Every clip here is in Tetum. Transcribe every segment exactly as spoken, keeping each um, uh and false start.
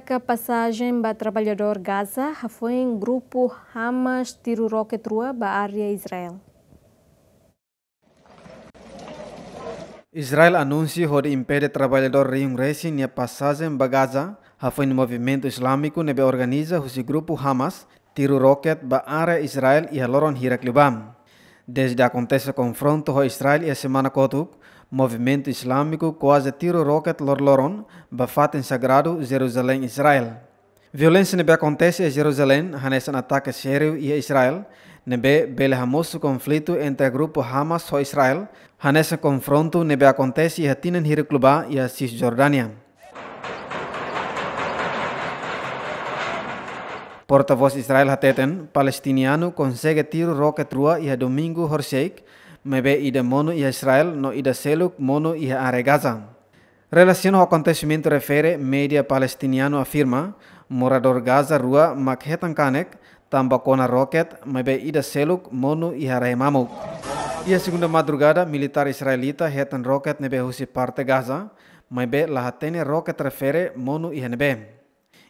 Ka pasajen ba traballadór Gaza hafoin grupu Hamas tiru roket rua ba área Israel. Israel anunsia hodi impede traballadór rihun resin nia pasajen ba Gaza hafoin movimentu Islamiku ne'ebé organiza husi grupu Hamas tiru roket ba área Israel iha loron hirak liubá. Dezde akontese konfrontu ho Israel iha semana kotuk, movimentu Islamiku kuaze tiru roket loroloron ba fatin sagradu Jerusalém, Israel. Violénsia ne'ebé akontese iha Jerusalém hanesan atake sériu iha Israel, ne'ebé bele hamosu konflitu entre grupu Hamas ho Israel, hanesan konfrontu ne'ebé akontese iha tinan hirak liubá iha Sisjordánia. Portavós Israel hateten, palestinianu konsege tiru roket rua iha domingu horisehik, maibé ida monu iha Israel no ida seluk monu iha área Gaza. Relasiona ho akontesimentu refere, média palestinianu afirma, moradór Gaza rua mak hetan kanek tanba kona roket, maibé ida seluk monu iha rai mamuk. Iha segunda madrugada, militár israelita hetan roket ne'ebé husi parte Gaza, maibé la hatene roket refere monu iha ne'ebé.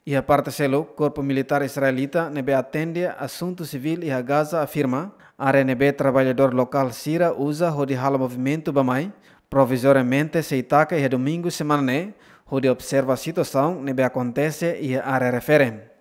Iha parte seluk, korpu militár israelita ne'ebé atende asuntu sivíl iha Gaza afirma, área ne'ebé traballadór lokál sira uza hodi halo movimentu bá-mai, provizoriamente sei taka iha domingu semana ne'e, hodi observa situasaun ne'ebé akontese iha área refere.